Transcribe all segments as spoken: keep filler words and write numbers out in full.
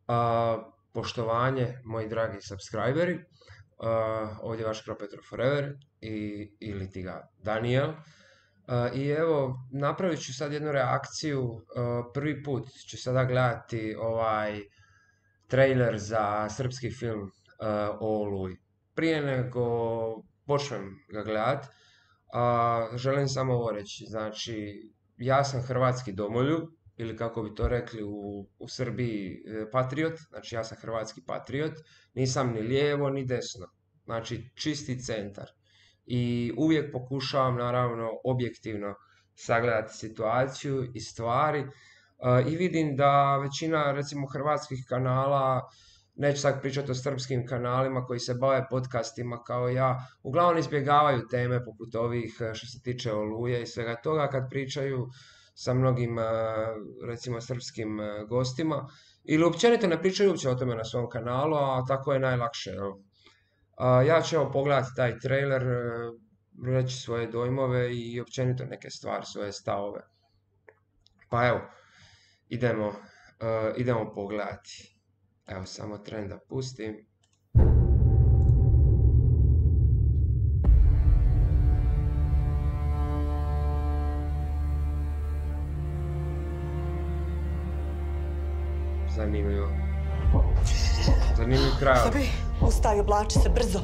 A, poštovanje, moji dragi subscriberi, a, ovdje je vaš Cro Petro Forever i, ili ti ga Daniel. A, I evo, napravit ću sad jednu reakciju. A, prvi put ću sada gledati ovaj trailer za srpski film a, o Oluji. Prije nego počnem ga gledat, a, želim samo ovo reći. Znači, ja sam hrvatski domoljub, ili kako bi to rekli u, u Srbiji, e, patriot. Znači, ja sam hrvatski patriot, nisam ni lijevo ni desno. Znači, čisti centar. I uvijek pokušavam, naravno, objektivno sagledati situaciju i stvari. E, I vidim da većina, recimo, hrvatskih kanala, neću sad pričati o srpskim kanalima koji se bave podcastima kao ja, uglavnom izbjegavaju teme poput ovih e, što se tiče Oluje i svega toga kad pričaju sa mnogim, e, recimo, srpskim e, gostima. Ili općenito ne pričaju uopće o tome na svom kanalu, a tako je najlakše. Jel? A, ja ću evo pogledati taj trailer, e, reći svoje dojmove i općenito neke stvari, svoje stavove. Pa evo, idemo, e, idemo pogledati. Evo, samo tren da pustim. Zanimljivo. Zanimljiv kraj. Sobi, ustaj, oblači se brzo.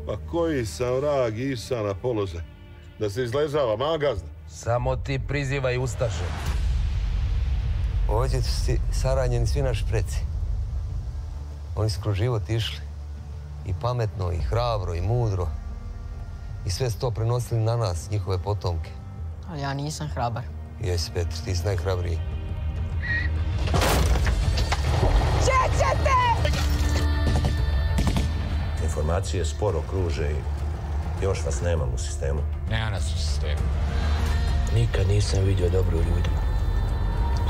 Pa koji sam vrag isa na položaj? Da se izležava, magazda. Samo ti prizivaj ustaše. Ovdje su si saranjeni svi naši preci. Oni su kroz život išli. I pametno, i hrabro, i mudro. I sve su to prenosili na nas, njihove potomke. Ali ja nisam hrabar. Jesi, Petr, ti si najhrabriji. Čećete! Informacije sporo kruže i još vas nemam u sistemu. Nema nas u sistemu. Nikad nisam vidio dobro u ljudima.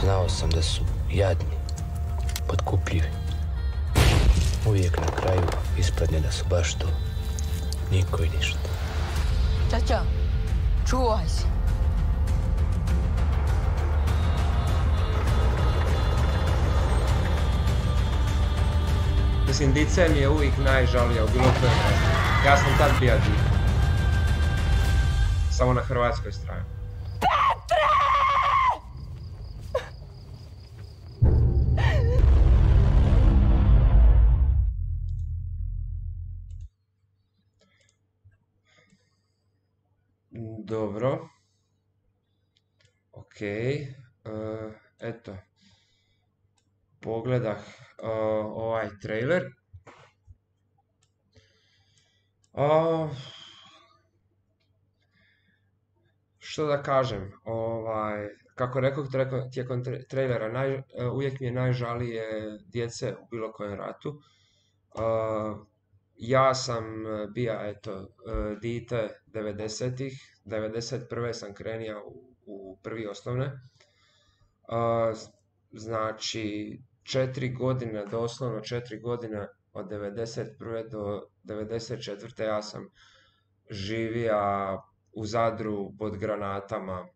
Znao sam da su jadni, potkupljivi. Uvijek na kraju ispadne da su baš to. Niko i ništa. Čača, čuvaj se. Mislim, dice mi je uvijek najžalija u bilo kojem ratu. Ja sam tad bija div. Samo na hrvatskoj strani. Dobro. Ok. Uh, eto. Pogledah uh, ovaj trailer. Uh, što da kažem, ovaj, kako rekao tijekom trailera, naj, uh, uvijek mi je najžalije djece u bilo kojem ratu. Uh, ja sam bija, eto, uh, dite devedesetih, devedeset prve sam krenija u, u prvi osnovne. Uh, znači, četiri godine, doslovno četiri godine od devedeset prve do devedeset četvrte ja sam živija u Zadru pod granatama, uh,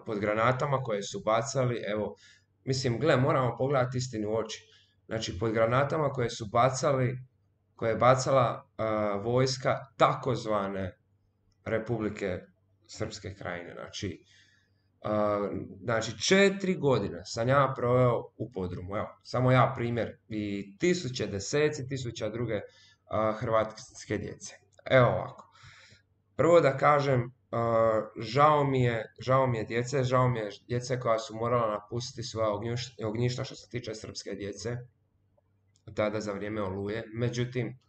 pod granatama koje su bacali, evo, mislim, gle, moramo pogledati istinu u oči. Znači, pod granatama koje su bacali, koje je bacala uh, vojska takozvane Republike Srpske krajine. Znači, uh, znači, četiri godine sam ja proveo u podrumu. Evo, samo ja primjer. I tisuće, deseci tisuća druge uh, hrvatske djece. Evo ovako. Prvo da kažem, uh, žao mi je, žao mi je djece, žao mi je djece koja su morala napustiti svoja ognjišta što se tiče srpske djece, tada za vrijeme Oluje. Međutim,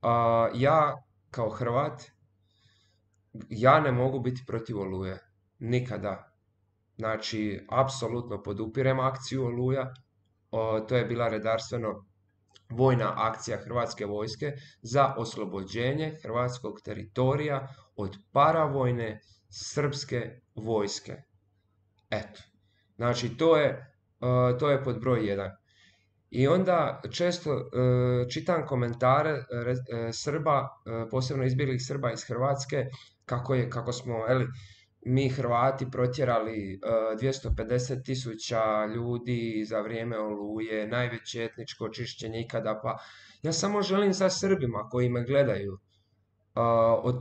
uh, ja kao Hrvat, ja ne mogu biti protiv Oluje. Nikada. Znači, apsolutno podupirem akciju Oluja. O, to je bila redarstveno vojna akcija Hrvatske vojske za oslobođenje hrvatskog teritorija od paravojne srpske vojske. Eto. Znači, to je, uh, to je pod broj jedan. I onda često uh, čitam komentare uh, Srba, uh, posebno izbjeglih Srba iz Hrvatske, kako, je, kako smo, eli, mi Hrvati protjerali uh, dvjesto pedeset tisuća ljudi za vrijeme Oluje, najveće etničko čišćenje ikada, pa ja samo želim sa Srbima koji me gledaju uh, od,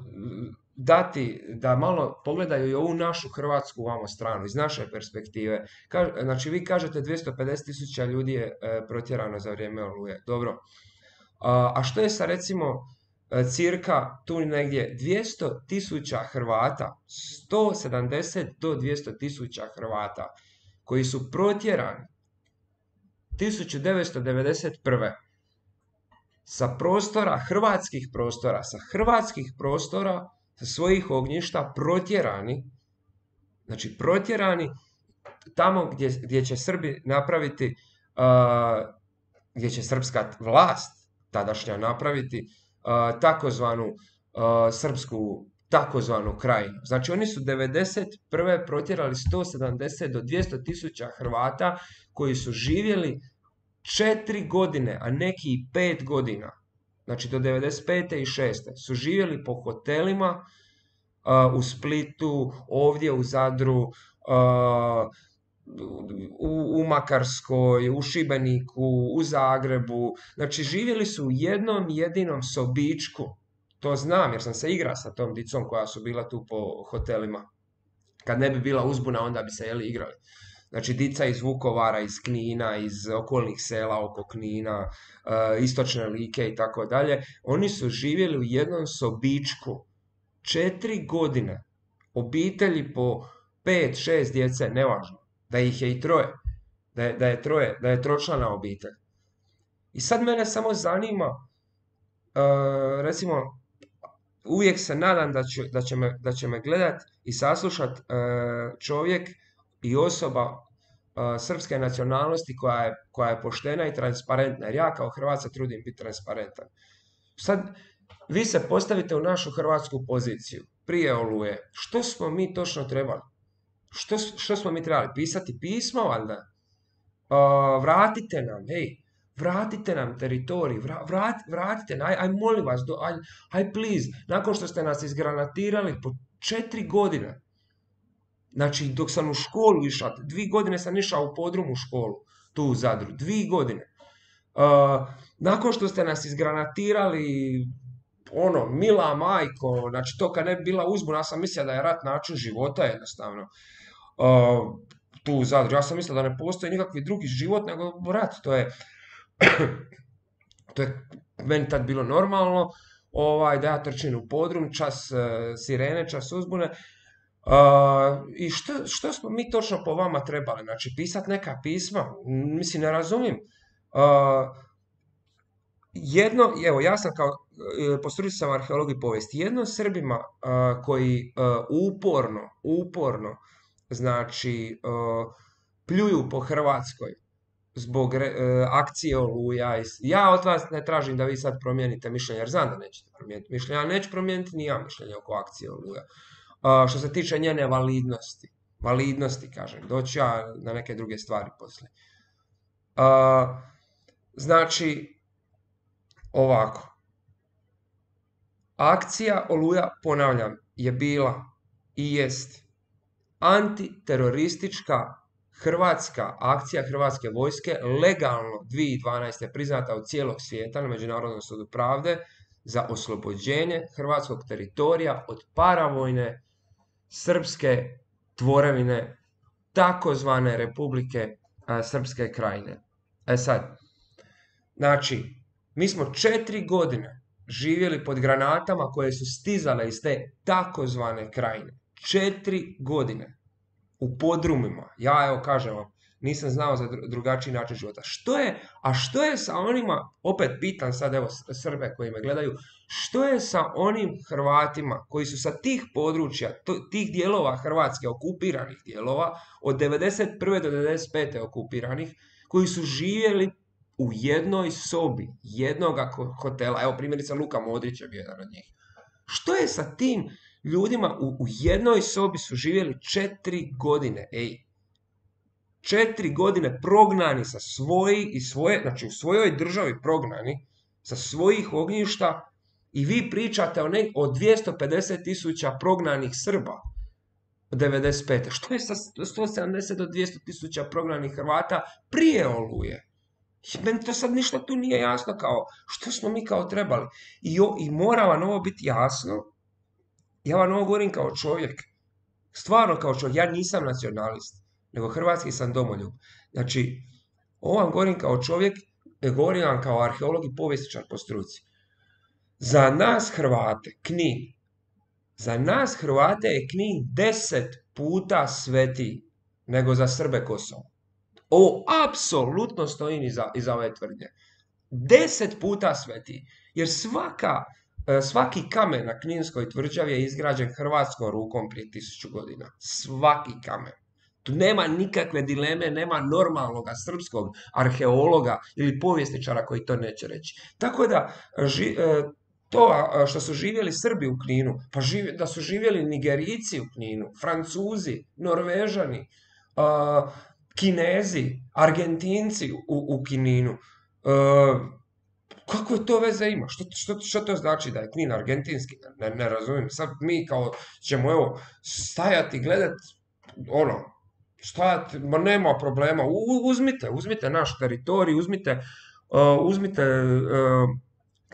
dati da malo pogledaju i ovu našu hrvatsku vamo stranu, iz naše perspektive. Ka, znači vi kažete dvjesto pedeset tisuća ljudi je uh, protjerano za vrijeme Oluje, dobro. Uh, a što je sa recimo cirka tu negdje dvjesto tisuća Hrvata, sto sedamdeset do dvjesto tisuća Hrvata koji su protjerani tisuću devetsto devedeset prve sa prostora, hrvatskih prostora, sa hrvatskih prostora, sa svojih ognjišta protjerani, znači protjerani tamo gdje, gdje će Srbi napraviti, uh, gdje će srpska vlast tadašnja napraviti Uh, takozvanu uh, srpsku takozvanu krajinu. Znači oni su devedeset prve protjerali sto sedamdeset do dvjesto tisuća Hrvata koji su živjeli četiri godine, a neki i pet godina. Znači do devedeset pete i šeste su živjeli po hotelima uh, u Splitu, ovdje u Zadru, uh, U, u Makarskoj, u Šibeniku, u Zagrebu. Znači živjeli su u jednom jedinom sobičku. To znam jer sam se igrao sa tom dicom koja su bila tu po hotelima. Kad ne bi bila uzbuna onda bi se jeli igrali. Znači dica iz Vukovara, iz Knina, iz okolnih sela oko Knina, uh, istočne Like i tako dalje. Oni su živjeli u jednom sobičku. Četiri godine. Obitelji po pet, šest djece, nevažno. Da ih je i troje, da je, da je troje, da je tročlana obitelj. I sad mene samo zanima, uh, recimo, uvijek se nadam da će, da će, me, da će me gledat i saslušat uh, čovjek i osoba uh, srpske nacionalnosti koja je, koja je poštena i transparentna, jer ja kao Hrvat se trudim biti transparentan. Sad, vi se postavite u našu hrvatsku poziciju, prije Oluje, što smo mi točno trebali? Što, što smo mi trebali? Pisati pismo, valjda? Uh, vratite nam, hej, vratite nam teritorij, vra, vrat, vratite nam, aj, aj molim vas, do, aj, aj please, nakon što ste nas izgranatirali po četiri godine, znači dok sam u školu išao, dvije godine sam išao u podrumu školu, tu u Zadru, dvije godine, uh, nakon što ste nas izgranatirali, ono, mila majko, znači to kad ne bi bila uzbuna, ja sam mislio da je rat način života jednostavno. Uh, tu u Zadru, ja sam mislio da ne postoji nikakvi drugi život nego rat, to je, to je meni tad bilo normalno, ovaj, da ja trčim u podrum, čas uh, sirene, čas uzbune. Uh, I što, što smo mi točno po vama trebali? Znači, pisat neka pisma? Mislim, ne razumijem. Uh, jedno, evo, ja sam kao, po struci sam arheolog i povijest, jedno Srbima uh, koji uh, uporno, uporno, znači, uh, pljuju po Hrvatskoj zbog uh, akcije Oluja. Ja od vas ne tražim da vi sad promijenite mišljenje, jer znam da nećete promijeniti mišljenje, ali neću promijeniti ni ja mišljenje oko akcije Oluja. Uh, što se tiče njene validnosti, validnosti, kažem, doći ja na neke druge stvari poslije. Uh, znači, ovako. Akcija Oluja, ponavljam, je bila i jest antiteroristička hrvatska akcija hrvatske vojske, legalno dvije tisuće dvanaeste. priznata od cijelog svijeta na Međunarodnom sudu pravde za oslobođenje hrvatskog teritorija od paravojne srpske tvorevine takozvane Republike a, Srpske krajine. E sad, znači, mi smo četiri godine živjeli pod granatama koje su stizale iz te takozvane krajine. Četiri godine. U podrumima. Ja, evo, kažem vam, nisam znao za drugačiji način života. Što je, a što je sa onima, opet pitam sad, evo, Srbe koji me gledaju, što je sa onim Hrvatima koji su sa tih područja, tih dijelova Hrvatske, okupiranih dijelova, od devedeset prve do devedeset pete okupiranih, koji su živjeli u jednoj sobi, jednoga hotela, evo primjerice Luka Modrić je bio jedan od njih. Što je sa tim ljudima u, u jednoj sobi su živjeli četiri godine, ej. Četiri godine prognani sa svoji i svoje, znači u svojoj državi prognani, sa svojih ognjišta i vi pričate o, ne, o dvjesto pedeset tisuća prognanih Srba. devedeset pete. Što je sa sto sedamdeset do dvjesto tisuća prognanih Hrvata prije Oluje? Meni to sad ništa tu nije jasno, kao što smo mi kao trebali. I, o, i mora vam ovo biti jasno. Ja vam ovo govorim kao čovjek. Stvarno kao čovjek. Ja nisam nacionalist, nego hrvatski sam domoljub. Znači, ovo vam govorim kao čovjek, govorim vam kao arheolog i povjesničar po struci. Za nas Hrvate, Knin, za nas Hrvate je Knin deset puta svetiji nego za Srbe Kosovo. Ovo apsolutno stojim iza, iza ove tvrdnje. Deset puta svetiji. Jer svaka, svaki kamen na Kninskoj tvrđavi je izgrađen hrvatskom rukom prije tisuću godina. Svaki kamen. Tu nema nikakve dileme, nema normalnog srpskog arheologa ili povjesničara koji to neće reći. Tako da, ži, to što su živjeli Srbi u Kninu, pa živ, da su živjeli Nigerijci u Kninu, Francuzi, Norvežani, uh, Kinezi, Argentinci u, u Kninu. Uh, kako je to veze ima? Što, što, što to znači da je Knin argentinski? Ne, ne razumijem. Sad mi kao ćemo evo stajati, gledati, ono, stajati, ma nema problema. U, uzmite, uzmite naš teritorij, uzmite, uh, uzmite uh,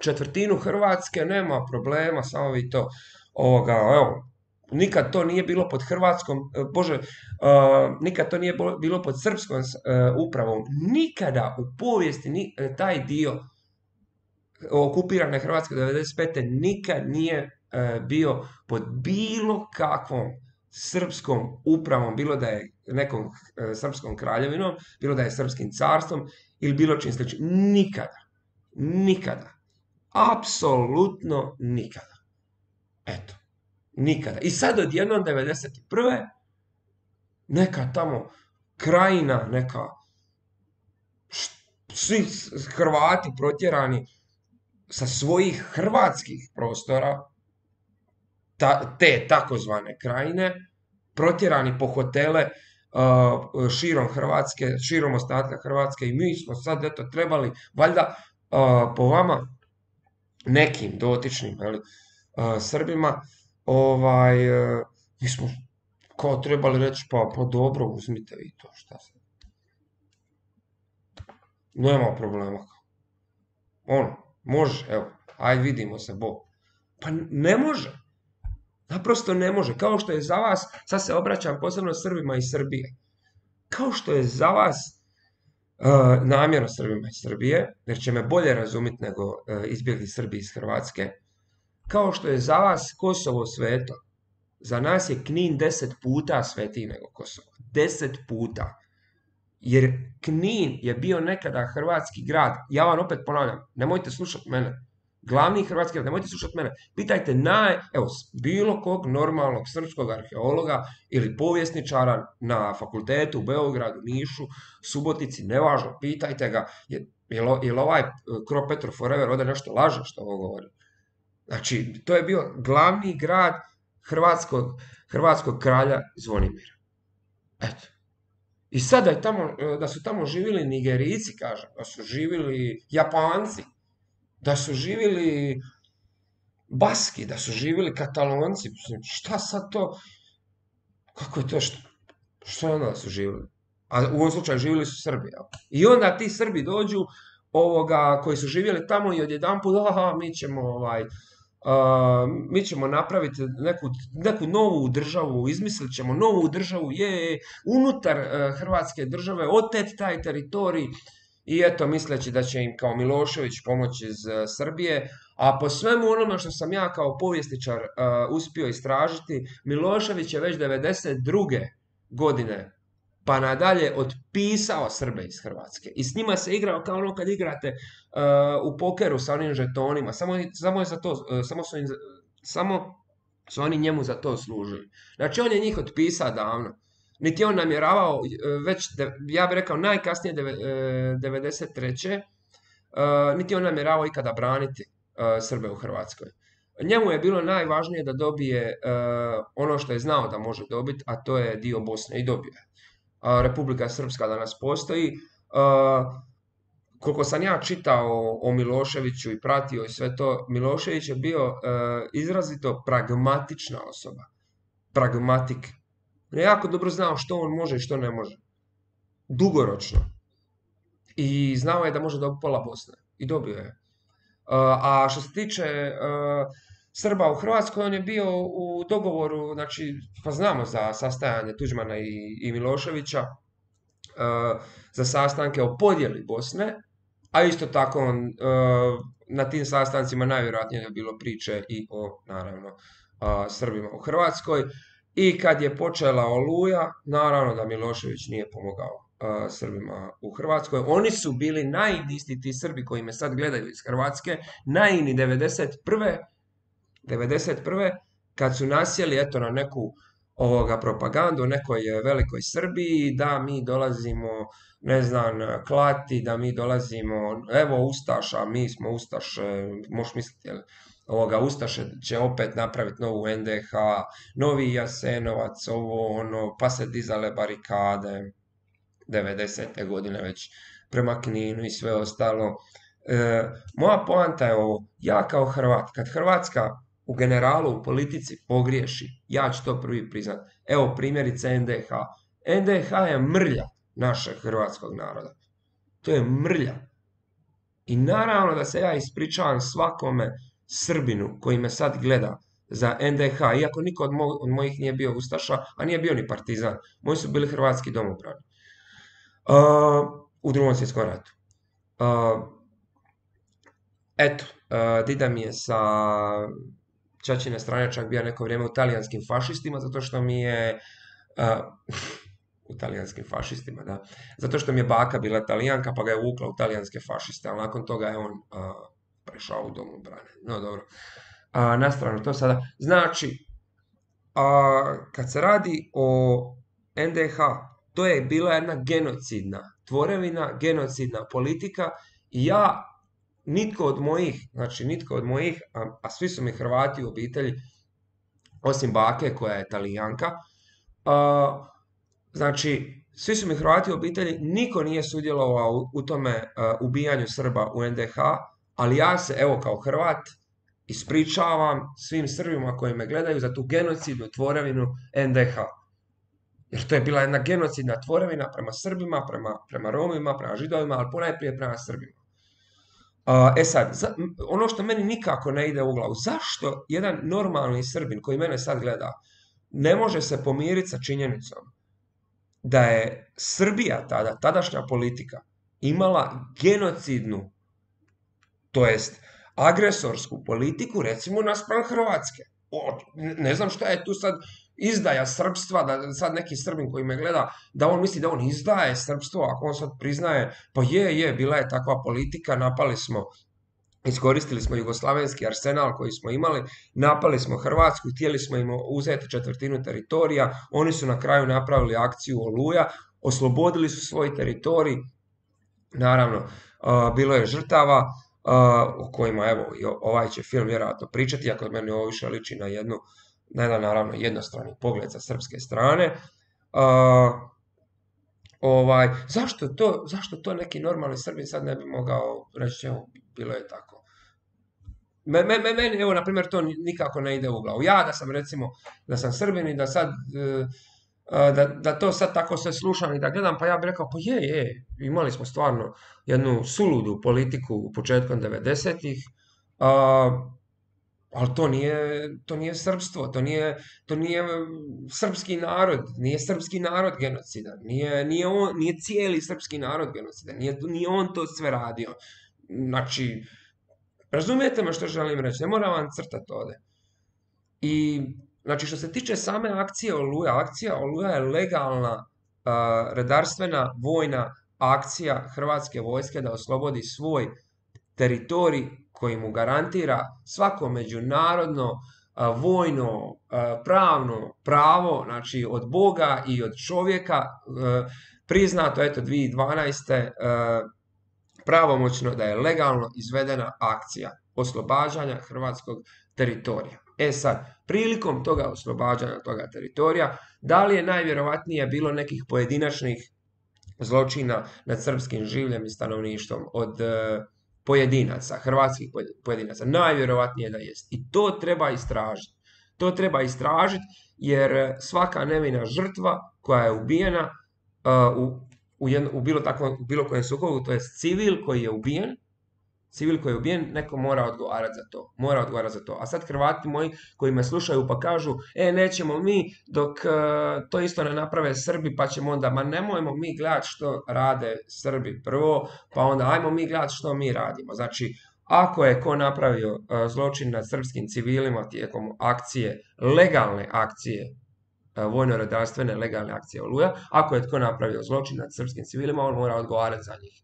četvrtinu Hrvatske, nema problema, samo vi to, ovoga, evo, nikad to nije bilo pod hrvatskom, bože, uh, nikad to nije bilo pod srpskom uh, upravom. Nikada u povijesti ni, taj dio okupirane Hrvatske devedeset pete nikad nije uh, bio pod bilo kakvom srpskom upravom, bilo da je nekom uh, srpskom kraljevinom, bilo da je srpskim carstvom ili bilo čim sličnim. Nikada. Nikada. Apsolutno nikada. Eto. Nikada. I sad odjednom devedeset prve neka tamo krajina, neka svi Hrvati protjerani sa svojih hrvatskih prostora, ta, te takozvane krajine, protjerani po hotele uh, širom Hrvatske, širom ostatka Hrvatske, i mi smo sad eto trebali, valjda uh, po vama nekim dotičnim ali, uh, Srbima, ovaj, uh, mi smo kao trebali reći, pa, pa dobro, uzmite vi to, šta se. Nema problema. Ono, može, evo, aj vidimo se, bo. Pa ne može. Naprosto ne može. Kao što je za vas, sad se obraćam posebno Srbima iz Srbije, kao što je za vas uh, namjerno Srbima iz Srbije, jer će me bolje razumjeti nego uh, izbjegli Srbi iz Hrvatske, kao što je za vas Kosovo sveto, za nas je Knin deset puta svetiji nego Kosovo. Deset puta. Jer Knin je bio nekada hrvatski grad. Ja vam opet ponavljam, nemojte slušati mene. Glavni hrvatski grad, nemojte slušati mene. Pitajte naj, evo, bilo kog normalnog srpskog arheologa ili povjesničara na fakultetu u Beogradu, Nišu, Subotici, nevažno, pitajte ga, je, je, je li ovaj Cro Petro Forever ovdje nešto laže što ovo govori? Znači, to je bio glavni grad hrvatskog, hrvatskog kralja Zvonimira. Eto. I sad da, je tamo, da su tamo živjeli Nigerijci, kažem, da su živjeli Japanci, da su živjeli Baski, da su živjeli Katalonci, šta sad to, kako je to, što, što je onda da su živjeli? A u ovom slučaju živjeli su Srbi. Ja. I onda ti Srbi dođu, ovoga, koji su živjeli tamo i odjedanput, aha, mi ćemo, ovaj, uh, mi ćemo napraviti neku, neku novu državu, izmislit ćemo novu državu, je, unutar uh, Hrvatske države, otet taj teritorij, i eto, misleći da će im kao Milošević pomoći iz uh, Srbije, a po svemu onome što sam ja kao povjesničar uh, uspio istražiti, Milošević je već devedeset druge godine pa nadalje otpisao Srbe iz Hrvatske. I s njima se igrao kao ono kad igrate uh, u pokeru sa onim žetonima. Samo, samo, je za to, uh, samo, su im, samo su oni njemu za to služili. Znači on je njih otpisao davno. Niti on namjeravao, uh, već, de, ja bih rekao najkasnije deve, uh, devedeset treće Uh, niti on namjeravao ikada braniti uh, Srbe u Hrvatskoj. Njemu je bilo najvažnije da dobije uh, ono što je znao da može dobiti, a to je dio Bosne, i dobio je. Republika Srpska danas postoji. Uh, koliko sam ja čitao o Miloševiću i pratio i sve to, Milošević je bio uh, izrazito pragmatična osoba. Pragmatik. On je jako dobro znao što on može i što ne može. Dugoročno. I znao je da može dobiti pola Bosne. I dobio je. A što se tiče Srba u Hrvatskoj, on je bio u dogovoru, znači, pa znamo za sastajanje Tuđmana i, i Miloševića, za sastanke o podjeli Bosne, a isto tako on, na tim sastancima najvjerojatnije je bilo priče i o, naravno, Srbima u Hrvatskoj. I kad je počela Oluja, naravno da Milošević nije pomogao Srbima u Hrvatskoj. Oni su bili naivni, isti ti Srbi koji me sad gledaju iz Hrvatske, naivni devedeset prve kad su nasjeli eto na neku ovoga propagandu o nekoj velikoj Srbiji, da mi dolazimo, ne znam, klati, da mi dolazimo, evo Ustaša, mi smo Ustaše, možeš misliti, jel? Ovoga, Ustaše će opet napraviti novu en de ha, novi Jasenovac, ovo, ono, pa se dizale barikade, devedesete godine već prema Kninu i sve ostalo. E, moja poanta je ovo, ja kao Hrvat, kad Hrvatska u generalu, u politici pogriješi, ja ću to prvi priznat. Evo primjerice en de ha. en de ha je mrlja našeg hrvatskog naroda. To je mrlja. I naravno da se ja ispričavam svakome Srbinu koji me sad gleda za en de ha, iako niko od, mo od mojih nije bio Ustaša, a nije bio ni partizan. Moji su bili hrvatski domobrani. Uh, u drugom svjetskom ratu. Uh, eto, uh, dida mi je sa ćaćine strane čak bio neko vrijeme u talijanskim fašistima, zato što mi je uh, u talijanskim fašistima, da, zato što mi je baka bila talijanka, pa ga je uvukla u talijanske fašiste, ali nakon toga je on uh, prešao u domobrane. No dobro, uh, na stranu to sada. Znači, uh, kad se radi o en de ha, to je bila jedna genocidna tvorevina, genocidna politika i ja, nitko od mojih, znači nitko od mojih, a, a svi su mi Hrvati u obitelji, osim bake koja je Talijanka, a, znači svi su mi Hrvati u obitelji, niko nije sudjelovao u, u tome a, ubijanju Srba u en de ha, ali ja se, evo kao Hrvat, ispričavam svim Srbima koji me gledaju za tu genocidnu tvorevinu en de ha. Jer to je bila jedna genocidna tvorevina prema Srbima, prema, prema Romima, prema Židovima, ali ponajprije prema Srbima. Uh, e sad, za, ono što meni nikako ne ide u glavu, zašto jedan normalni Srbin koji mene sad gleda ne može se pomiriti sa činjenicom da je Srbija tada, tadašnja politika, imala genocidnu, to jest agresorsku politiku, recimo naspram Hrvatske. O, ne znam šta je tu sad izdaja srpstva, da sad neki Srbin koji me gleda, da on misli da on izdaje srpstvo, ako on sad priznaje, pa je, je, bila je takva politika, napali smo, iskoristili smo jugoslavenski arsenal koji smo imali, napali smo Hrvatsku, htjeli smo im uzeti četvrtinu teritorija, oni su na kraju napravili akciju Oluja, oslobodili su svoj teritorij, naravno, uh, bilo je žrtava, uh, o kojima, evo, ovaj će film vjerojatno pričati, iako od mene ovo više liči na jednu, na jedan, naravno, jednostrani pogled sa srpske strane. Uh, ovaj, zašto, to, zašto to neki normalni Srbin sad ne bi mogao reći, evo, bilo je tako. Meni, me, me, evo, na primjer, to nikako ne ide u glavu. Ja da sam, recimo, da sam Srbin i da sad, da, da to sad tako sve slušam i da gledam, pa ja bih rekao, pa je, je, imali smo stvarno jednu suludu politiku početkom devedesetih, uh, ali to nije, to nije srpstvo, to nije, to nije srpski narod, nije srpski narod genocidan, nije, nije, on, nije cijeli srpski narod genocidan, nije, nije on to sve radio. Znači, razumijete me što želim reći, ne moram vam crtati ovdje. I, znači, što se tiče same akcije Oluja, akcija Oluja je legalna uh, redarstvena vojna akcija Hrvatske vojske da oslobodi svoj teritorij koji mu garantira svako međunarodno, a, vojno, a, pravno pravo, znači od Boga i od čovjeka, a, priznato, eto, dvije tisuće dvanaeste. A, pravomoćno da je legalno izvedena akcija oslobađanja hrvatskog teritorija. E sad, prilikom toga oslobađanja toga teritorija, da li je najvjerovatnije bilo nekih pojedinačnih zločina nad srpskim življem i stanovništvom od pojedinaca, hrvatskih pojedinaca? Najvjerovatnije da jest. I to treba istražiti. To treba istražiti jer svaka nevina žrtva koja je ubijena uh, u, u, jedno, u, bilo takvom, u bilo kojem sukobu, to je civil koji je ubijen, civil koji je ubijen, neko mora odgovarati za to. Mora odgovarati za to. A sad Hrvati moji koji me slušaju pa kažu, e, nećemo mi dok uh, to isto ne naprave Srbi, pa ćemo onda, ma nemojmo mi gledati što rade Srbi prvo, pa onda ajmo mi gledati što mi radimo. Znači, ako je ko napravio uh, zločin nad srpskim civilima tijekom akcije, legalne akcije, uh, vojno-redarstvene legalne akcije Oluja, ako je tko napravio zločin nad srpskim civilima, on mora odgovarati za njih.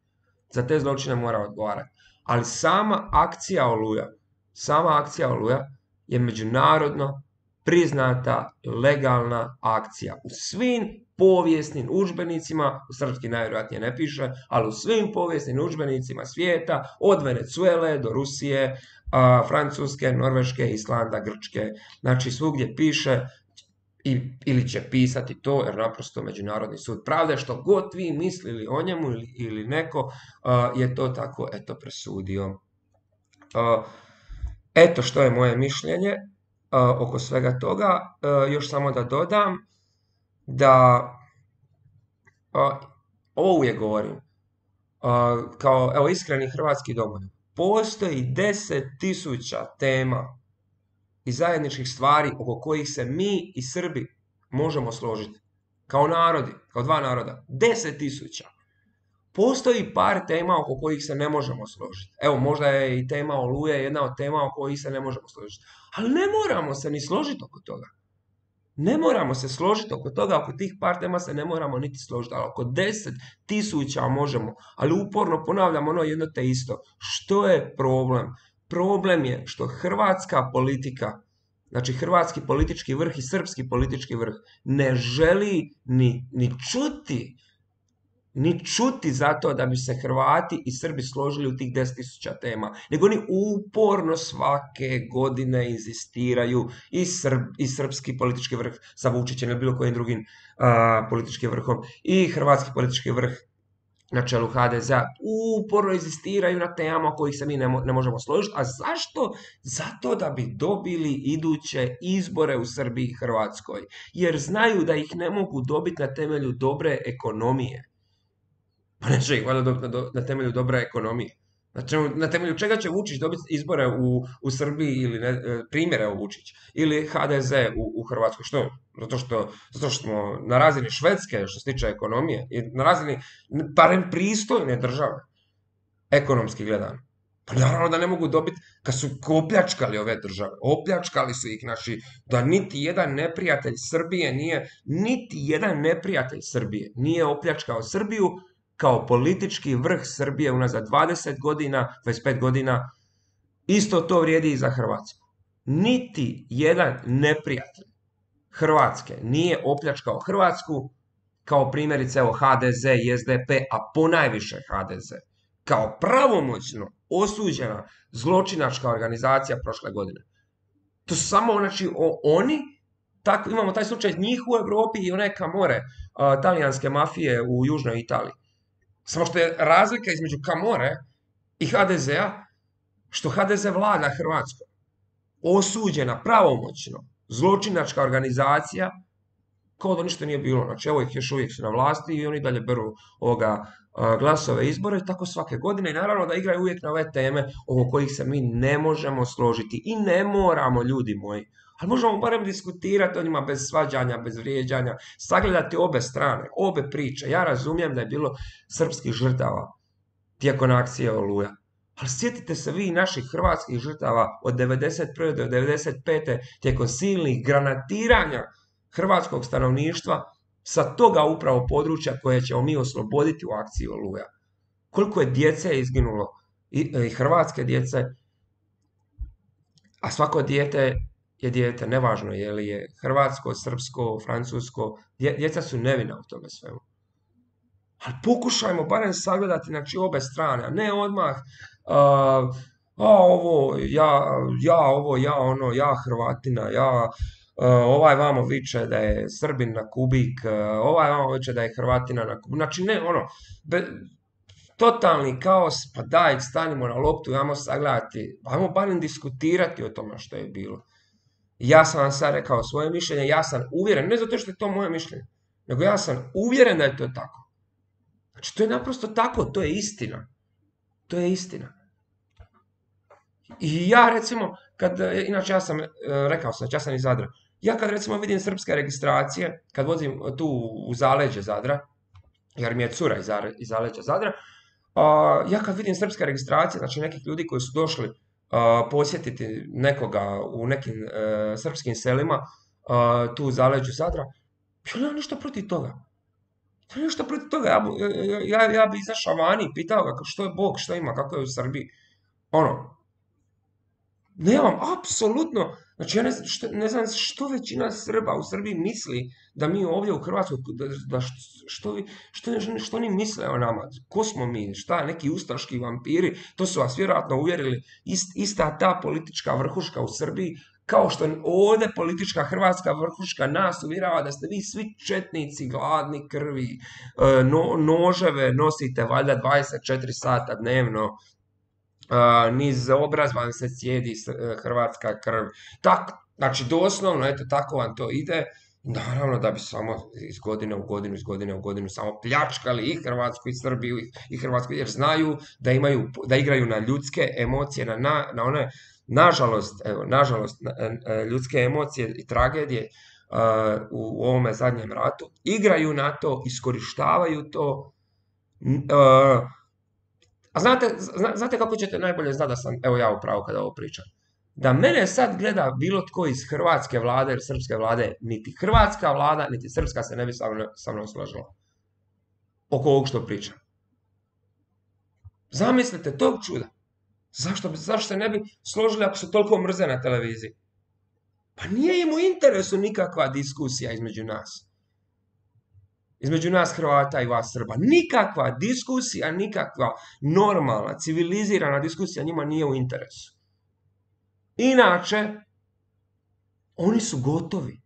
Za te zločine mora odgovarati. Ali sama akcija Oluja, sama akcija Oluja je međunarodno priznata legalna akcija. U svim povijesnim udžbenicima, u srpski najvjerojatnije ne piše, ali u svim povijesnim udžbenicima svijeta, od Venezuele do Rusije, a, Francuske, Norveške, Islanda, Grčke, znači svugdje piše i, ili će pisati to, jer naprosto Međunarodni sud pravde, što god vi mislili o njemu ili, ili neko, uh, je to tako, eto, presudio. Uh, eto što je moje mišljenje uh, oko svega toga. Uh, još samo da dodam da uh, ovo uvijek govorim, uh, kao evo, iskreni hrvatski domoljub. Postoji deset tisuća tema i zajedničkih stvari oko kojih se mi i Srbi možemo složiti. Kao narodi, kao dva naroda. Deset tisuća. Postoji par tema oko kojih se ne možemo složiti. Evo, možda je i tema Oluje jedna od tema oko kojih se ne možemo složiti. Ali ne moramo se ni složiti oko toga. Ne moramo se složiti oko toga, oko tih par tema se ne moramo niti složiti. Ali oko deset tisuća možemo. Ali uporno ponavljam ono jedno te isto. Što je problem? Problem je što hrvatska politika, znači hrvatski politički vrh i srpski politički vrh, ne želi ni, ni čuti, ni čuti zato da bi se Hrvati i Srbi složili u tih deset tisuća tema, nego oni uporno svake godine inzistiraju i, Srb, i srpski politički vrh sa Vučićem ili bilo kojim drugim uh, političkim vrhom i hrvatski politički vrh na čelu ha de zea uporno inzistiraju na temama kojih se mi ne, mo ne možemo složiti. A zašto? Zato da bi dobili iduće izbore u Srbiji i Hrvatskoj. Jer znaju da ih ne mogu dobiti na temelju dobre ekonomije. Pa neće ih valjda dobiti na, na temelju dobre ekonomije. Znači, na temelju čega će Vučić dobiti izbore u, u Srbiji ili ne, primjere o Vučić ili ha de ze u, u Hrvatskoj? Što? Zato što, zato što smo na razini Švedske što se tiče ekonomije i na razini barem pristojne države, ekonomski gledano. Pa naravno da ne mogu dobiti kad su opljačkali ove države. Opljačkali su ih, znači, da niti jedan neprijatelj Srbije nije, niti jedan neprijatelj Srbije nije opljačkao Srbiju kao politički vrh Srbije unazad dvadeset godina, dvadeset pet godina. Isto to vrijedi i za Hrvatsku. Niti jedan neprijatelj Hrvatske nije opljačkao Hrvatsku kao primjerice evo ha de ze i es de pe, a ponajviše ha de ze, kao pravomoćno osuđena zločinačka organizacija prošle godine. To su samo, znači, o, oni, tako, imamo taj slučaj njih u Europi i one Camorre, uh, talijanske mafije u južnoj Italiji. Samo što je razlika između Camorre i ha de zea, što ha de ze vlada Hrvatskom. Osuđena pravomoćno zločinačka organizacija, kao da ništa nije bilo. Znači, evo ih još uvijek su na vlasti i oni dalje beru ovoga a, glasove izbore i tako svake godine. I naravno da igraju uvijek na ove teme oko kojih se mi ne možemo složiti. I ne moramo, ljudi moji. Ali možemo barem diskutirati o njima bez svađanja, bez vrijeđanja, sagledati obe strane, obe priče. Ja razumijem da je bilo srpskih žrtava tijekom akcije Oluja. Ali sjetite se vi naših hrvatskih žrtava od devedeset prve do devedeset pete tijekom silnih granatiranja hrvatskog stanovništva sa toga upravo područja koje ćemo mi osloboditi u akciji Oluja. Koliko je djece izginulo, i, i hrvatske djece, a svako dijete je dijete, nevažno je li je hrvatsko, srpsko, francusko, dje, djeca su nevina u tome svemu. Ali pokušajmo barem sagledati, znači, obe strane, a ne odmah uh, a ovo, ja, ja ovo, ja ono, ja Hrvatina, ja uh, ovaj vamo viče da je Srbin na kubik, uh, ovaj vamo viče da je Hrvatina na kubik. Znači, ne, ono, be, totalni kaos, pa daj, stanimo na loptu, ajmo sagledati, ajmo barem diskutirati o tome što je bilo. Ja sam vam sad rekao svoje mišljenje, ja sam uvjeren, ne zato što je to moje mišljenje, nego ja sam uvjeren da je to tako. Znači, to je naprosto tako, to je istina. To je istina. I ja, recimo, kad, inače ja sam, rekao sam, ja sam iz Zadra, ja kad, recimo, vidim srpske registracije, kad vozim tu u zaleđe Zadra, jer mi je cura iz, iz zaleđa Zadra, uh, ja kad vidim srpske registracije, znači nekih ljudi koji su došli uh, posjetiti nekoga u nekim uh, srpskim selima, uh, tu u zaleđu Zadra, ja nemam ništa protiv toga. Ja nemam ništa protiv toga. Ja, ja, ja bi izašao vani i pitao ga što je Bog, što ima, kako je u Srbiji. Ono, nemam, apsolutno, znači ja ne znam, što, ne znam što većina Srba u Srbiji misli da mi ovdje u Hrvatskoj, da, da što, što, što, što oni misle o nama, ko smo mi, šta, neki ustaški vampiri, to su vas vjerojatno uvjerili, ist, ista ta politička vrhuška u Srbiji, kao što ovdje politička hrvatska vrhuška nas uvjerava da ste vi svi četnici, gladni krvi, no, noževe nosite valjda dvadeset četiri sata dnevno, Uh, niz obraz vam se cijedi uh, hrvatska krv. Tak, znači, doslovno, eto, tako vam to ide. Naravno da bi samo iz godine u godinu, iz godine u godinu samo pljačkali i Hrvatsku i Srbiju i, i Hrvatsku, jer znaju da imaju, da igraju na ljudske emocije, na, na, na one, nažalost, evo, nažalost, na, na, ljudske emocije i tragedije uh, u, u ovome zadnjem ratu. Igraju na to, iskorištavaju to. Uh, A znate, znate kako ćete najbolje znati da sam, evo ja upravo kada ovo pričam, da mene sad gleda bilo tko iz hrvatske vlade ili srpske vlade, niti hrvatska vlada, niti srpska se ne bi sa mnom složila oko ovog što pričam. Zamislite tog čuda. Zašto, zašto se ne bi složili ako su toliko mrze na televiziji? Pa nije im u interesu nikakva diskusija između nas. Između nas Hrvata i vas Srba. Nikakva diskusija, nikakva normalna, civilizirana diskusija njima nije u interesu. Inače, oni su gotovi.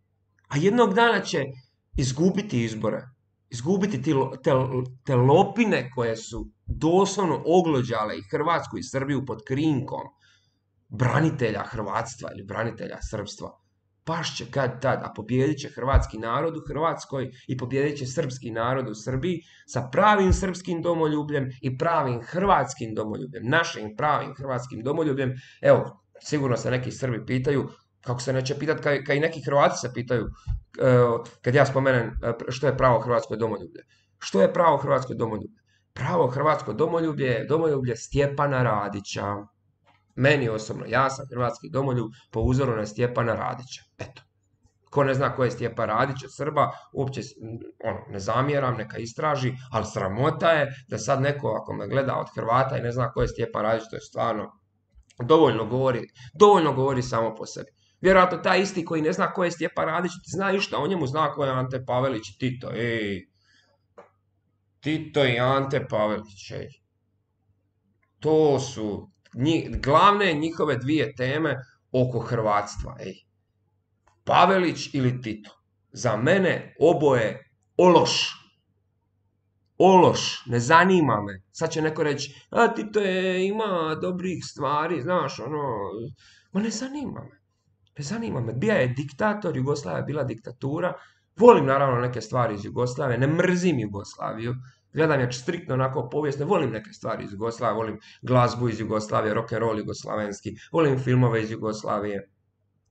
A jednog dana će izgubiti izbore. Izgubiti te, te, te lopine koje su doslovno oglođale i Hrvatsku i Srbiju pod krinkom branitelja hrvatstva ili branitelja srpstva. Pašće kad tad, a pobjedit će hrvatski narod u Hrvatskoj i pobjedit će srpski narod u Srbiji sa pravim srpskim domoljubljem i pravim hrvatskim domoljubljem, našim pravim hrvatskim domoljubljem. Evo, sigurno se neki Srbi pitaju, kako se neće pitati, kad, kad i neki Hrvati se pitaju, kad ja spomenem što je pravo hrvatsko domoljublje. Što je pravo hrvatsko domoljublje? Pravo hrvatsko domoljublje je domoljublje Stjepana Radića. Meni osobno, ja sam hrvatski domoljub po uzoru na Stjepana Radića. Eto. Ko ne zna ko je Stjepan Radić od Srba, uopće ono, ne zamjeram, neka istraži, ali sramota je da sad neko ako me gleda od Hrvata i ne zna ko je Stjepan Radić, to je stvarno dovoljno govori, dovoljno govori samo po sebi. Vjerojatno taj isti koji ne zna ko je Stjepan Radić, zna išta o njemu, zna ko je Ante Pavelić i Tito. Ej, Tito i Ante Pavelić, ej. To su Njih, glavne njihove dvije teme oko hrvatstva. Ej. Pavelić ili Tito. Za mene oboje ološ. Ološ. Ne zanima me. Sad će neko reći, a Tito je, ima dobrih stvari, znaš, ono. Ma ne zanima me. Ne zanima me. Bija je diktator, Jugoslavija je bila diktatura. Volim naravno neke stvari iz Jugoslavije. Ne mrzim Jugoslaviju. Gledam je striktno onako povijesno, volim neke stvari iz Jugoslavije, volim glazbu iz Jugoslavije, rock'n'roll jugoslavenski, volim filmove iz Jugoslavije.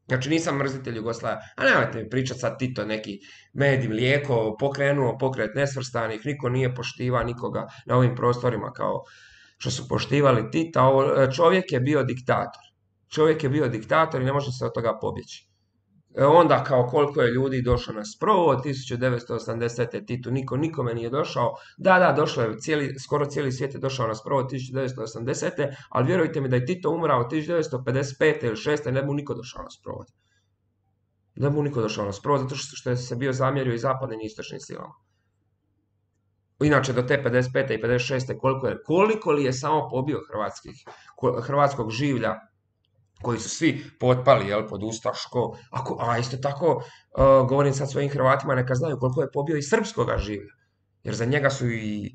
Znači nisam mrzitelj Jugoslavije, a nemojte mi pričati sad Tito neki med i mlijeko, pokrenuo pokret nesvrstanih, niko nije poštiva nikoga na ovim prostorima kao što su poštivali Tita. Čovjek je bio diktator, čovjek je bio diktator i ne može se od toga pobjeći. Onda kao koliko je ljudi došlo na sprovod, tisuću devetsto osamdesete. Titu niko nikome nije došao. Da, da, došlo je, cijeli, skoro cijeli svijet je došao na sprovod tisuću devetsto osamdesete. Ali vjerujte mi da je Tito umrao tisuću devetsto pedeset pete ili šeste. ne bi mu niko došao na sprovod. Ne bi mu niko došao na sprovod, zato što je se bio zamjerio i zapadnim i istočnim silama. Inače, do te pedeset pete i pedeset šeste koliko, je, koliko li je samo pobio hrvatskih, hrvatskog življa, koji su svi potpali, jel, pod ustaško, ako, a isto tako, uh, govorim sad svojim Hrvatima, neka znaju koliko je pobio i srpskoga življa, jer za njega su i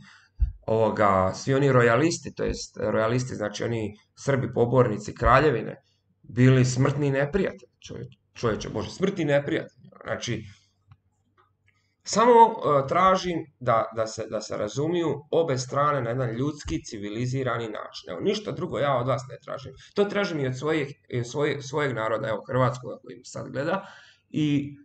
ovoga, svi oni rojalisti, to jest rojalisti, znači oni Srbi pobornici kraljevine, bili smrtni neprijatelji, čovječe. čovječe Bože, smrti neprijatelj. Znači, samo uh, tražim da, da, se, da se razumiju obe strane na jedan ljudski, civilizirani način. Evo, ništa drugo ja od vas ne tražim. To tražim i od svojeg, svoje, svojeg naroda, evo, hrvatskog koji mi sad gleda. I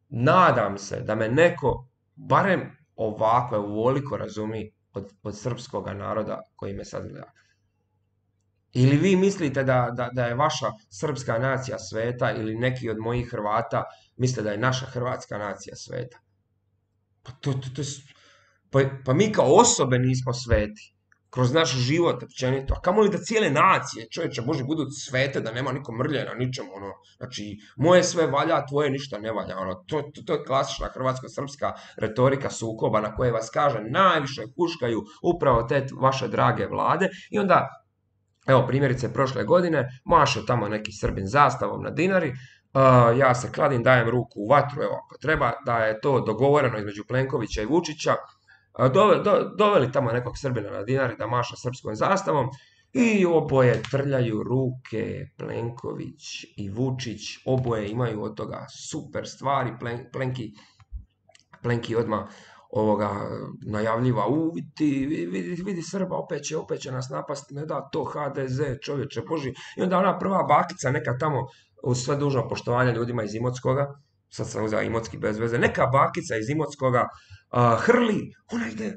nadam se da me neko, barem ovako, ovoliko razumi od, od srpskog naroda koji me sad gleda. Ili vi mislite da, da, da je vaša srpska nacija sveta ili neki od mojih Hrvata misle da je naša hrvatska nacija sveta. Pa, to, to, to, pa, pa mi kao osobe nismo sveti. Kroz naš život općenito. A kamoli da cijele nacije, čovječe Bože, budu svete, da nema niko mrlje na ničemu. Ono. Znači, moje sve valja, tvoje ništa ne valja. Ono. To, to, to je klasična hrvatsko-srpska retorika sukoba na koje vas, kaže, najviše huškaju upravo te vaše drage vlade. I onda, evo, primjerice, prošle godine, maše tamo neki Srbin zastavom na Dinari, uh, ja se kladim, dajem ruku u vatru, evo, ako treba, da je to dogovoreno između Plenkovića i Vučića, uh, dove, do, doveli tamo nekog Srbina na Dinari da maša srpskom zastavom i oboje trljaju ruke, Plenković i Vučić, oboje imaju od toga super stvari, Plen, Plenki, Plenki odmah ovoga najavljiva, u, vidi, vidi, vidi Srba, opet će, opet će nas napast, ne da to H D Z, čovječe Boži. I onda ona prva bakica, neka tamo, uz sve dužno poštovanje ljudima iz Imotskoga, sad sam uzela Imotski bez veze, neka bakica iz Imotskoga uh, hrli, ona ide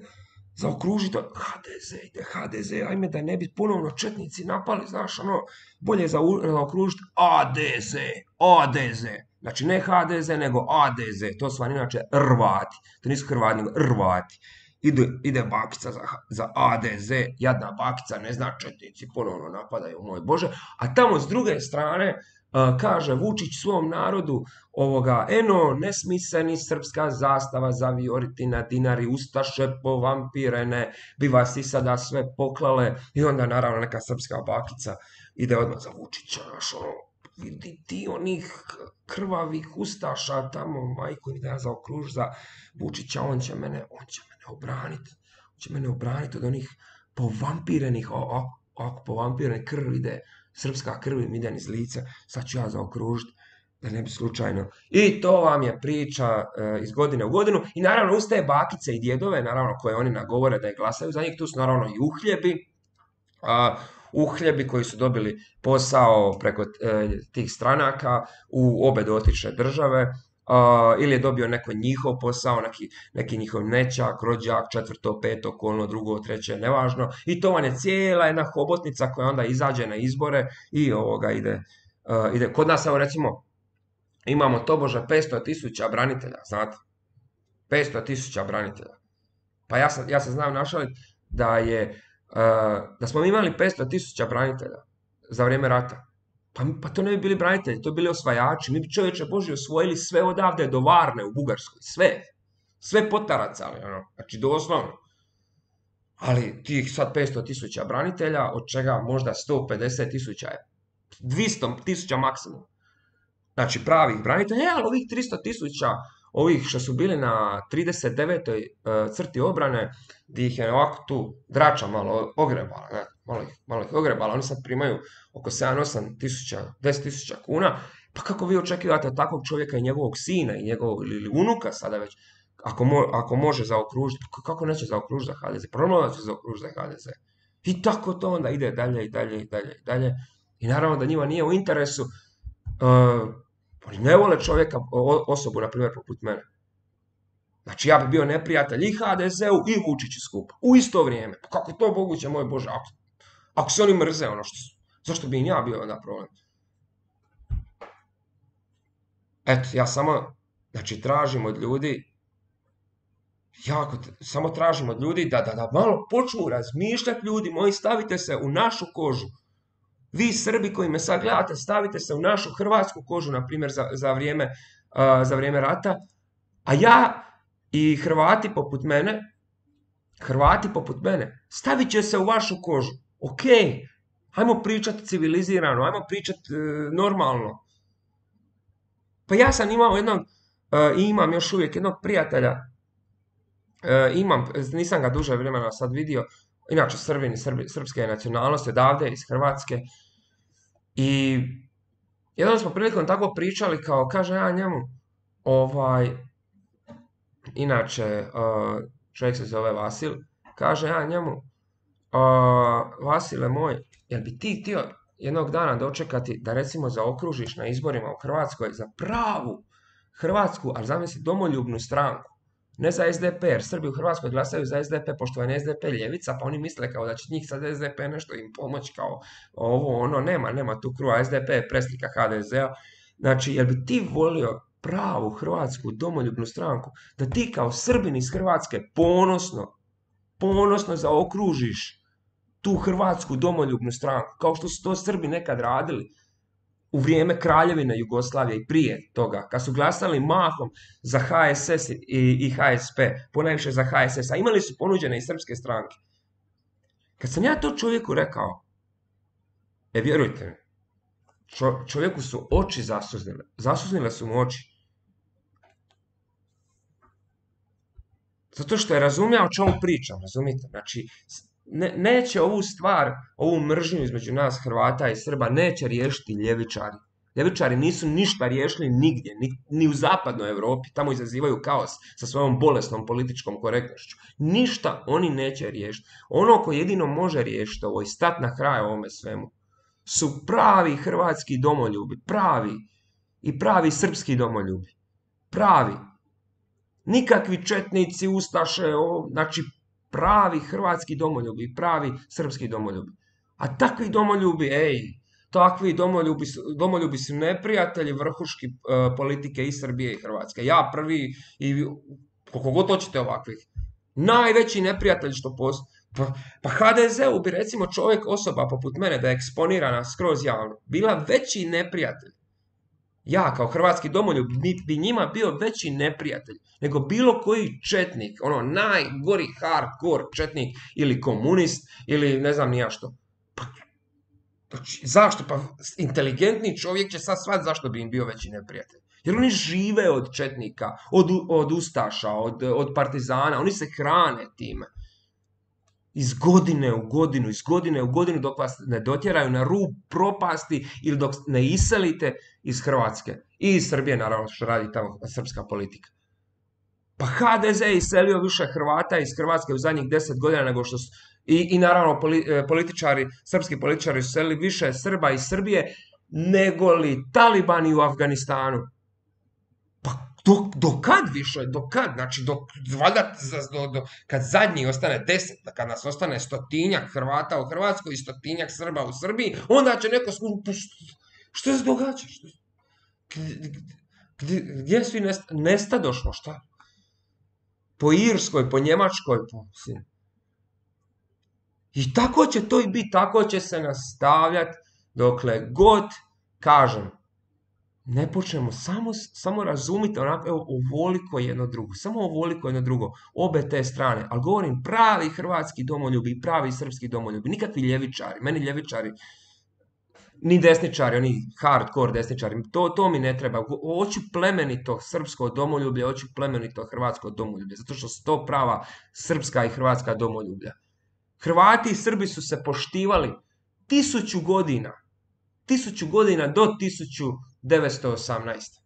zaokružiti, H D Z, ide H D Z, ajme da ne bi ponovno četnici napali, znaš, ono, bolje zaokružiti A D Z, A D Z. Znači, ne H D Z, nego A D Z. To su vam inače Rvati. To nisu Hrvati, nego Rvati. Ide, ide bakica za, za A D Z. Jadna bakica, ne zna, četnici ponovno napadaju, moj Bože. A tamo s druge strane, uh, kaže Vučić svom narodu, ovoga, eno, ne smi se ni srpska zastava zavijoriti na Dinari, ustaše povampirene, bi vas i sada sve poklale. I onda, naravno, neka srpska bakica ide odmah za Vučića, naš, ono, vidi ti onih krvavih ustaša tamo, majko, da ja zaokruž za Vučića, on će mene, on će mene obraniti, on će mene obraniti od onih povampirenih, o, o, o, povampirene krv ide, srpska krv im ide iz lica, sad ću ja zaokružiti, da ne bi slučajno. I to vam je priča e, iz godine u godinu, i naravno uz te bakice i djedove, naravno koje oni nagovore da je glasaju za njih, tu su naravno i uhljebi, a, uhljebi koji su dobili posao preko e, tih stranaka u obe dotične države, uh, ili je dobio neko njihov posao, neki, neki njihov nećak, rođak, četvrto, peto, kolno, drugo, treće, nevažno. I to vam je cijela jedna hobotnica koja onda izađe na izbore i ovoga ide. Uh, ide. Kod nas, evo recimo, imamo tobože petsto tisuća branitelja, znate? petsto tisuća branitelja. Pa ja sam, ja sam znam našaliti da je Uh, da smo imali petsto tisuća branitelja za vrijeme rata, pa, pa to ne bi bili branitelji, to bi bili osvajači. Mi bi, čovječe Boži, osvojili sve odavde do Varne u Bugarskoj, sve, sve potaracali, ono, znači doslovno. Ali tih sad petsto tisuća branitelja, od čega možda sto pedeset tisuća je, dvjesto tisuća maksimum. Znači pravih branitelja, ali ovih tristo tisuća, ovih što su bili na trideset devetoj uh, crti obrane, gdje ih je ovako tu drača malo ogrebala, ne, malo, ih, malo ih ogrebala, oni sad primaju oko sedam osam tisuća, deset tisuća kuna, pa kako vi očekivate od takvog čovjeka i njegovog sina i njegovog ili unuka sada već, ako, mo, ako može zaokružiti, kako neće zaokružiti za H D Z, normalno da će zaokružiti za H D Z. I tako to onda ide dalje i dalje i dalje i dalje. I naravno da njima nije u interesu, uh, oni ne vole čovjeka, osobu, na primjer, poput mene. Znači, ja bi bio neprijatelj i H D Z-u i Vučiću skupa. U isto vrijeme. Pa kako je to moguće, moj Bože? Ako, ako se oni mrze, ono što su. Zašto bi im ja bio onda problem? Eto, ja samo, znači, tražim od ljudi, jako, samo tražim od ljudi da, da, da malo počnu razmišljati, ljudi moji, stavite se u našu kožu. Vi Srbi koji me sad gledate, stavite se u našu hrvatsku kožu, na primjer, za, za, vrijeme, uh, za vrijeme rata, a ja i Hrvati poput mene, Hrvati poput mene, stavit će se u vašu kožu. Ok, ajmo pričati civilizirano, ajmo pričati uh, normalno. Pa ja sam imao jednog, uh, i imam još uvijek jednog prijatelja, uh, imam, nisam ga duže vremena sad vidio, inače Srbini, Srbi, srpske nacionalnosti, odavde iz Hrvatske. I Jednom smo prilikom tako pričali kao, kaže ja njemu, ovaj, inače, uh, čovjek se zove Vasil, kaže ja njemu, uh, Vasile moj, jel bi ti htio jednog dana dočekati da recimo zaokružiš na izborima u Hrvatskoj za pravu Hrvatsku, ali zamisli domoljubnu stranku, ne za S D P, jer Srbi u Hrvatskoj glasaju za S D P, pošto je S D P ljevica, pa oni misle kao da će njih sad S D P nešto im pomoći, kao ovo, ono, nema, nema tu kruha, S D P je preslika H D Z-a. Znači, jel bi ti volio pravu Hrvatsku domoljubnu stranku, da ti kao Srbin iz Hrvatske ponosno, ponosno zaokružiš tu Hrvatsku domoljubnu stranku, kao što su to Srbi nekad radili u vrijeme Kraljevine Jugoslavije i prije toga, kad su glasali mahom za H S S i, i H S P, ponajviše za H S S, a imali su ponuđene i srpske stranke. Kad sam ja to čovjeku rekao, e vjerujte mi, čo, čovjeku su oči zasuznile, zasuznile su mu oči. Zato što je razumio o čemu pričam, razumite? Znači, ne, neće ovu stvar, ovu mržnju između nas Hrvata i Srba, neće riješiti ljevičari. Ljevičari nisu ništa riješili nigdje, ni, ni u zapadnoj Europi, tamo izazivaju kaos sa svojom bolesnom političkom korektnošću. Ništa oni neće riješiti. Ono ko jedino može riješiti ovo i stati na kraj ovome svemu, su pravi hrvatski domoljubi, pravi i pravi srpski domoljubi, pravi. Nikakvi četnici, ustaše, o, znači pravi hrvatski domoljubi, pravi srpski domoljubi. A takvi domoljubi, ej, takvi domoljubi, domoljubi su neprijatelji vrhuški uh, politike i Srbije i Hrvatske. Ja prvi i koliko god hoćete ovakvih. Najveći neprijatelj što postoji. Pa, pa H D Z-u bi recimo čovjek, osoba poput mene, da je eksponirana skroz javno, bila veći neprijatelj. Ja kao hrvatski domoljub bi njima bio veći neprijatelj nego bilo koji četnik, ono najgori hardcore četnik ili komunist ili ne znam ni ja što. Pa, zašto? Pa inteligentni čovjek će sad shvatiti zašto bi im bio veći neprijatelj. Jer oni žive od četnika, od, od ustaša, od, od partizana, oni se hrane time. Iz godine u godinu, iz godine u godinu dok vas ne dotjeraju na rub propasti ili dok ne iselite iz Hrvatske. I iz Srbije, naravno, što radi tamo srpska politika. Pa H D Z je iselio više Hrvata iz Hrvatske u zadnjih deset godina nego što su... I, i naravno, političari, srpski političari su iselili više Srba iz Srbije nego li talibani u Afganistanu. Pa do, do kad više, do kad, znači do, valjda, do, do, kad zadnji ostane deset, kad nas ostane stotinjak Hrvata u Hrvatskoj i stotinjak Srba u Srbiji, onda će neko skući, što se događa? Što, gdje, gdje svi nest, nestadošlo, šta? Po Irskoj, po Njemačkoj, po... I tako će to i biti, tako će se nastavljati dokle god, kažem, ne počnemo, samo, samo razumite onako, evo, ovoliko jedno drugo, samo ovoliko jedno drugo, obe te strane, ali govorim pravi hrvatski domoljubi i pravi srpski domoljubi, nikakvi ljevičari, meni ljevičari, ni desničari, oni hardcore desničari, to, to mi ne treba, hoću plemenito srpsko domoljublje, hoću plemenito hrvatsko domoljublje, zato što su to prava srpska i hrvatska domoljublja. Hrvati i Srbi su se poštivali tisuću godina, tisuću godina do tisuću devetsto osamnaeste.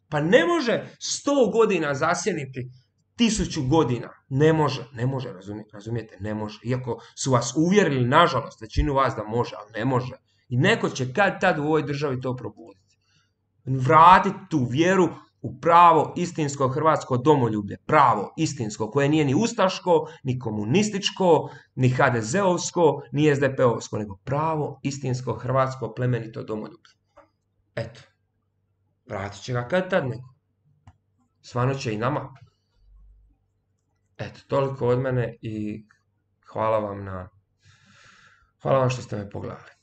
Pa ne može sto godina zasjeniti tisuću godina. Ne može, ne može, razumijete, razumijete, ne može. Iako su vas uvjerili, nažalost, većinu vas da može, ali ne može. I neko će kad tad u ovoj državi to probuditi. Vratiti tu vjeru u pravo istinsko hrvatsko domoljublje. Pravo istinsko, koje nije ni ustaško, ni komunističko, ni H D Z-ovsko, ni S D P-ovsko, nego pravo istinsko hrvatsko plemenito domoljublje. Eto. Vratit će ga kad tad neko. Svano će i nama. Eto, toliko od mene i hvala vam na... Hvala vam što ste me pogledali.